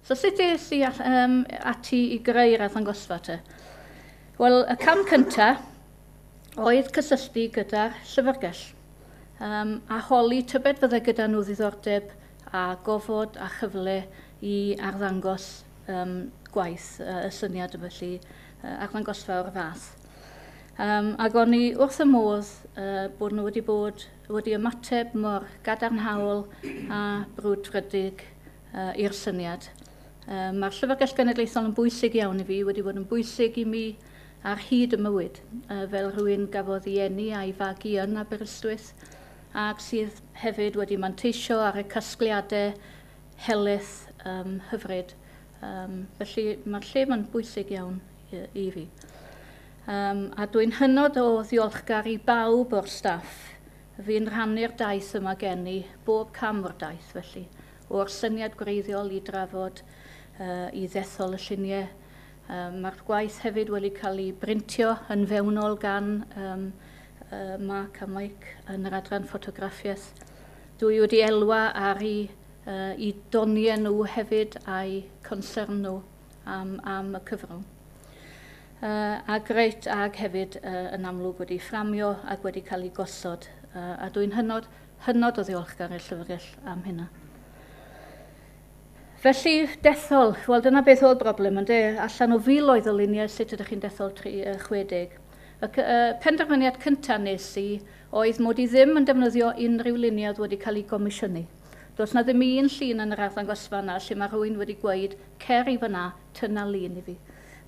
So sut es i ati i greu'r arddangosfa te? Wel, y cam cyntaf oedd cysylltu gyda'r llyfrgell a holi tybed fydde gyda nhw ddiddordeb a gofod a chyfle i arddangos gwaith y syniad felly arddangosfa o'r fath. Ac o'n i wrth y modd bod nhw wedi ymateb mor gadarnhaol a brwdfrydig i'r syniad. Mae'r Llyfrgell Genedlaethol yn bwysig iawn i fi, wedi bod yn bwysig i mi ar hyd y mywyd, fel rhywun gafodd ei eni a'i fagu yn Aberystwyth, ac sydd hefyd wedi manteisio ar y casgliadau helaeth hyfryd. Felly mae'r lle ma'n bwysig iawn i fi. A dwi'n hynod o ddiolchgar i bawb o'r staff fi'n rhannu'r daith yma gen i, bob cam o'r daith felly, o'r syniad gwreiddiol i drafod, i ddethol y lluniau. Mae'r gwaith hefyd wedi cael ei brintio yn fewnol gan Mark a Mike yn yr adran ffotograffiaeth. Dwi wedi elwa ar eu doniau nhw hefyd a'i concern nhw am y cyfrwng. A greit ag hefyd yn amlwg wedi fframio ac wedi cael ei gosod. A dwi'n hynod, hynod o ddiolchgar i'r llyfrgell am hynna. Felly, dethol, wel dyna beth oedd broblem, ynde? Allan o filoedd o luniau, sut ydych chi'n dethol 60? Y penderfyniad cyntaf nes i oedd mod i ddim yn defnyddio unrhyw luniau oedd wedi cael ei gomisiynu. Does na ddim un llun yn yr arddangosfa yna lle mae rhywun wedi gweud, cer i fyna, tynna lun i fi.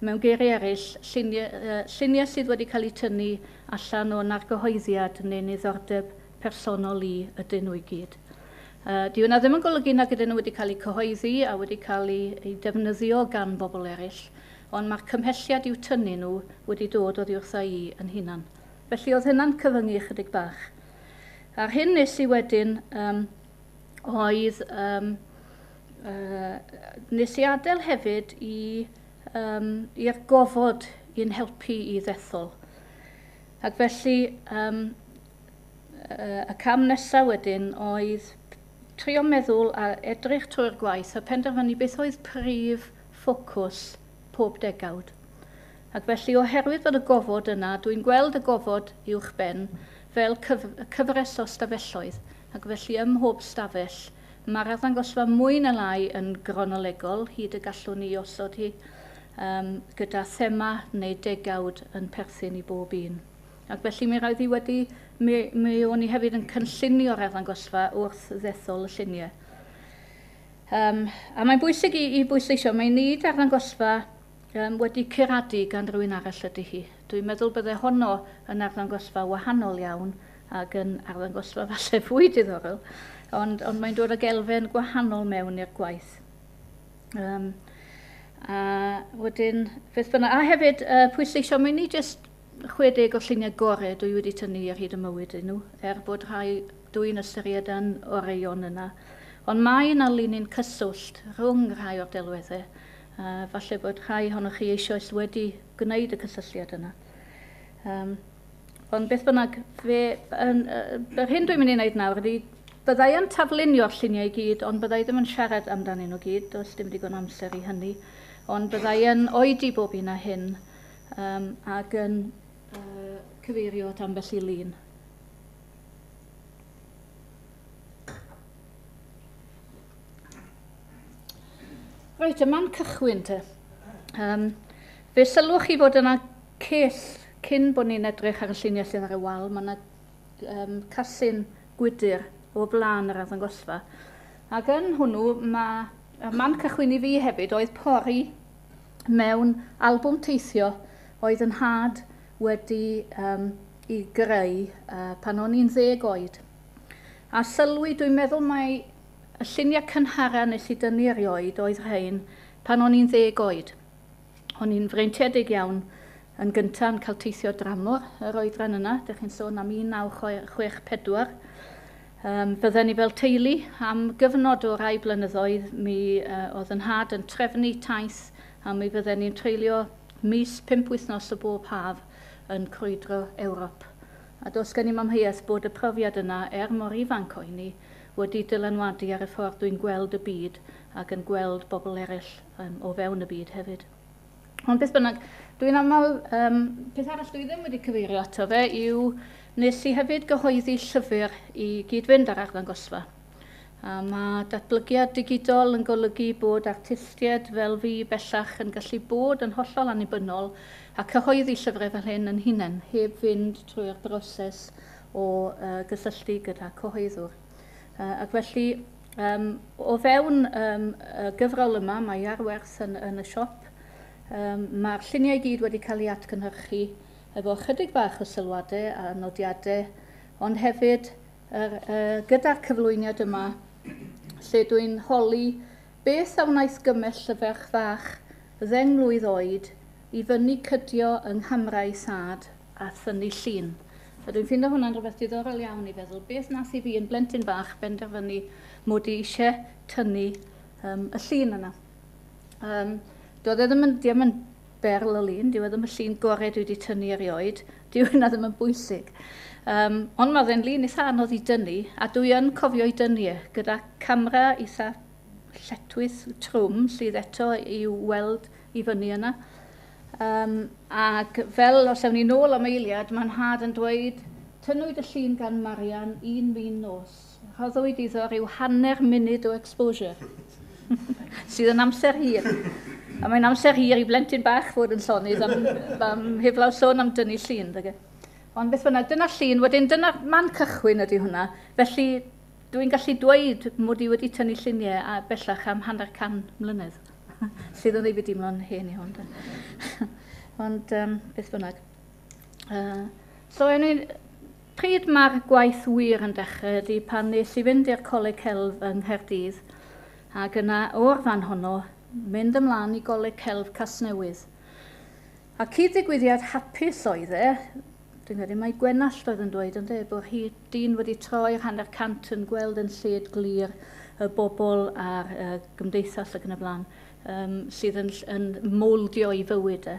Mewn geiriau eraill, lluniau sydd wedi cael eu tynnu allan o'n argyhoeddiad neu niddordeb personol i ydyn nhw i gyd. Di hwnna ddim yn golygu nag ydyn nhw wedi cael eu cyhoeddi a wedi cael eu defnyddio gan bobl eraill, ond mae'r cymhelliad i'w tynnu nhw wedi dod oddi wrtha i yn hunan. Felly oedd hynna'n cyfyngu ychydig bach. A'r hyn nes i wedyn oedd nes i adael hefyd i'r gofod i'n helpu i ddethol. Ac felly y cam nesaf wedyn oedd trio meddwl a edrych trwy'r gwaith a penderfynu beth oedd prif ffocws pob degawd. Ac felly oherwydd bod y gofod yna, dwi'n gweld y gofod uwchben fel cyfres o stafelloedd, ac felly ym mhob stafell mae'r arddangosfa mwy na lai yn gronolegol, hyd y gallwn ni osod hi, gyda thema neu degawd yn perthyn i bob un. Ac felly mi roedd hi wedi, mi o'n i hefyd yn cynllunio'r arddangosfa wrth ddethol y lluniau. A mae'n bwysig i bwysleisio, mae nid arddangosfa wedi curadu gan rhywun arall ydy hi. Dwi'n meddwl bydde honno yn arddangosfa wahanol iawn ac yn arddangosfa falle fwy diddorol, ond mae'n dod ag elfen gwahanol mewn i'r gwaith. A wedyn, beth bynnag, a hefyd pwysleisio, mae ni jyst 60 o lluniau gorau dwi wedi tynnu ar hyd y mywyd nhw, er bod rhai dwi'n ystyried yn oreuon yna. Ond mae yna linyn cyswllt rhwng rhai o'r delweddau. Falle bod rhai ohonoch chi eisoes wedi gwneud y cysylltiad yna. Ond beth bynnag, yr hyn dwi'n mynd i wneud nawr ydy, byddai yn taflunio'r lluniau i gyd, ond byddai ddim yn siarad amdanyn nhw gyd, does dim digon amser i hynny. Ond byddai yn oedi bob un a hyn ac yn cyfeirio at ambell i lun. Reit, y man cychwyn te. Fe sylwch chi fod yna cell cyn bod ni'n edrych ar y lluniau sydd ar y wal. Mae yna casyn gwydr o flaen yr arddangosfa. Ac yn hwnnw, mae y man cychwyn i fi hefyd oedd pori mewn albwm teithio oedd yn nhad wedi i greu pan o'n i'n 10 oed. A sylwi, dwi'n meddwl mai y lluniau cynhara nes i dynnu erioed oedd rhain pan o'n i'n 10 oed. O'n i'n freintiedig iawn yn gyntaf yn cael teithio dramor yr oedran yna, dych chi'n sôn am 1964. Fydden ni fel teulu am gyfnod o rai blynyddoedd, mi oedd yn nhad yn trefnu taith a mi fydden ni'n treulio mis 5 wythnos o bob haf yn crwydro Ewrop. A does gen i'm amheuaeth bod y profiad yna, er mor ifanc o'n i, wedi dylanwadu ar y ffordd dwi'n gweld y byd ac yn gweld bobl eraill o fewn y byd hefyd. Ond beth bynnag, dwi'n aml, peth arall dwi ddim wedi cyfeirio ato fe yw nes i hefyd gyhoeddi llyfr i gyd-fynd â'r arddangosfa. A mae datblygiad digidol yn golygu bod artistiaid fel fi bellach yn gallu bod yn hollol annibynnol a cyhoeddi llyfrau fel hyn yn hunain, heb fynd trwy'r broses o gysylltu gyda cyhoeddwr. Ac felly, o fewn y gyfrol yma, mae ar werth yn y siop, mae'r lluniau i gyd wedi cael eu atgynhyrchu efo chydig bach o sylwadau a nodiadau, ond hefyd gyda'r cyflwyniad yma, lle dwi'n holi beth a wnaeth gymell y ferch fach 10 mlwydd oed i fyny cydio yng nghamrau thad a thynnu llun. A dwi'n ffindo hwnna'n rhywbeth diddorol iawn i feddwl, beth nath i fi yn blentyn bach benderfynu mod i eisiau tynnu y llun yna. Doedd e ddim yn, ddim yn berl o lun, dyw e ddim y llun gorau dwi wedi tynnu erioed, dyw hynna ddim yn bwysig. Ond mae fe'n lun eitha anodd i dynnu, a dwi yn cofio i dynnu e, gyda camera eitha lletchwith trwm sydd eto i'w weld i fyny yna. Ac fel os ewn ni nôl am eiliad, mae'n nhad yn dweud, tynnwyd y llun gan Marian un fin nos. Rhoddwyd iddo rhyw hanner munud o exposure, sydd yn amser hir. A mae'n amser hir i blentyn bach fod yn llonydd am heblaw sôn am dynnu llun. Dyge. Ond beth bynnag, dyna llun, wedyn dyna'r man cychwyn ydy hwnna. Felly dwi'n gallu dweud mod i wedi tynnu lluniau a bellach am 150 mlynedd. Sydd yn ei fi deimlo'n hen iawn. Ond beth bynnag. So, pryd mae'r gwaith wir yn dechrau ydy pan nes i fynd i'r Coleg Celf yng Nghaerdydd ac yna o'r fan honno mynd ymlaen i Goleg Celf Casnewydd. A cyd-ddigwyddiad hapus oedd e, dwi'n credu mai Gwenallt oedd yn dweud ynde, bod hi dyn wedi troi'r 150 yn gweld yn lled glir y bobl a'r gymdeithas ac yn y blaen, sydd yn mowldio i fywyd e.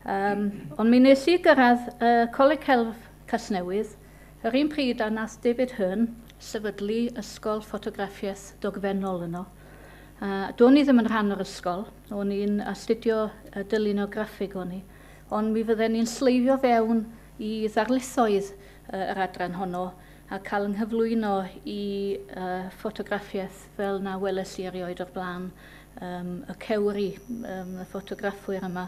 Ond mi nes i gyrraedd Coleg Celf Casnewydd, yr un pryd a nath David Hurn sefydlu ysgol ffotograffiaeth dogfennol yno. Do'n i ddim yn rhan o'r ysgol, o'n i'n astudio dylunio graffig o'n i, ond mi fydden ni'n sleifio fewn i ddarlithoedd yr adran honno a cael yng nghyflwyno i ffotograffiaeth fel na weles i erioed o'r blaen, y cewri, y ffotograffwyr yma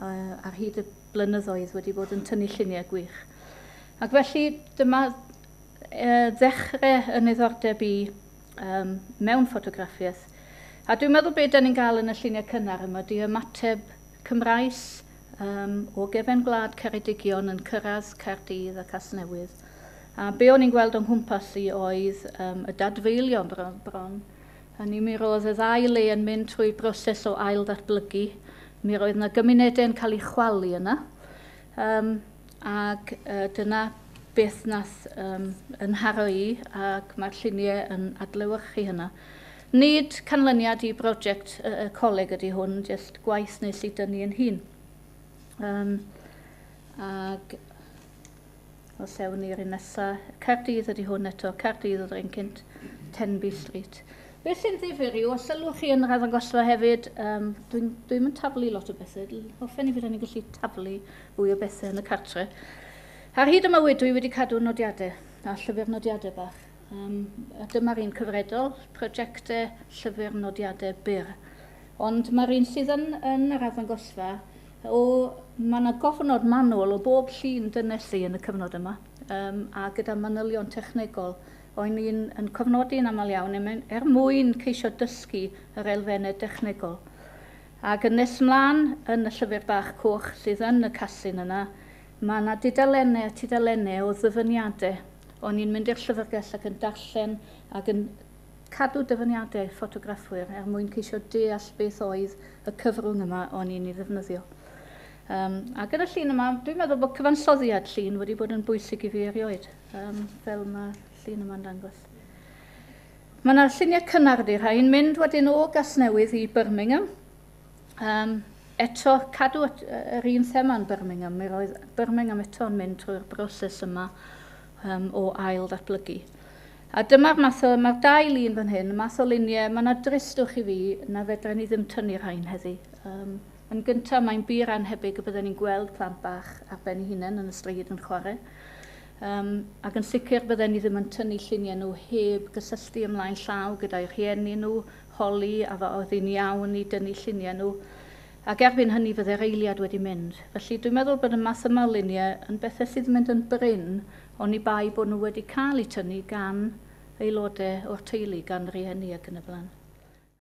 ar hyd y blynyddoedd wedi bod yn tynnu lluniau gwych. Ac felly dyma ddechrau yn niddordeb i mewn ffotograffiaeth. A dwi'n meddwl beth da ni'n gael yn y lluniau cynnar yma ydy ymateb Cymraes o gefen gwlad Ceredigion yn cyrraedd Caerdydd a Casnewydd. A be o'n i'n gweld o'n nghwmpas i oedd y dadfeilio bron. Hynny mi roedd y ddau le yn mynd trwy broses o ail ddatblygu. Mi roedd yna gymunedau yn cael eu chwalu yna. Ac dyna beth nath yn nharo i, ac mae'r lluniau yn adlewyrchu hynna. Nid canlyniad i brosiect y coleg ydy hwn, jyst gwaith nes i dynnu yn hun. Ac os ewn ni'r un nesaf, Caerdydd ydy hwn eto, Caerdydd oedd yr un cynt, Tenby Street. Beth sy'n ddifyr yw, os sylwch chi yn yr arddangosfa hefyd, dwi'n mynd taflu lot o bethau, hoffen i fydden ni'n gallu taflu fwy o bethau yn y cartre. Ar hyd y mywyd dwi wedi cadw nodiadau, a llyfr nodiadau bach. A dyma'r un cyfredol, prosiectau llyfr nodiadau byr. Ond mae'r un sydd yn yr arddangosfa, mae yna gofnod manwl o bob llun dynes i yn y cyfnod yma, a gyda manylion technegol. O'n i'n yn cofnodi'n aml iawn er mwyn ceisio dysgu yr elfennau dechnegol. Ac yn nes mlaen yn y llyfr bach coch sydd yn y casyn yna, mae yna dudalennau a tudalennau o ddyfyniadau. O'n i'n mynd i'r llyfrgell ac yn darllen ac yn cadw dyfyniadau ffotograffwyr er mwyn ceisio deall beth oedd y cyfrwng yma o'n i'n ei ddefnyddio. A gyda llun yma, dwi'n meddwl bod cyfansoddiad llun wedi bod yn bwysig i fi erioed, fel mae llun yma'n dangos. Mae yna lluniau cynnar ydy rhain, mynd wedyn o Gasnewydd i Birmingham. Eto, cadw yr un thema yn Birmingham, mi roedd Birmingham eto'n mynd trwy'r broses yma o ail ddatblygu. A dyma'r math o, mae'r dau lun fan hyn, y math o luniau, mae yna dristwch i fi na fedra ni ddim tynnu'r rhain heddi. Yn gyntaf, mae'n bur anhebyg y bydden ni'n gweld plant bach ar ben eu hunain yn y stryd yn chwarae. Ac yn sicr bydden ni ddim yn tynnu lluniau nhw heb gysylltu ymlaen llaw gyda'i rhieni nhw, holi a fa oedd hi'n iawn i dynnu lluniau nhw. Ac erbyn hynny fydde'r eiliad wedi mynd. Felly dwi'n meddwl bod y math yma o luniau yn bethau sydd yn mynd yn brin, oni bai bod nhw wedi cael eu tynnu gan aelodau o'r teulu, gan rieni ac yn y blaen.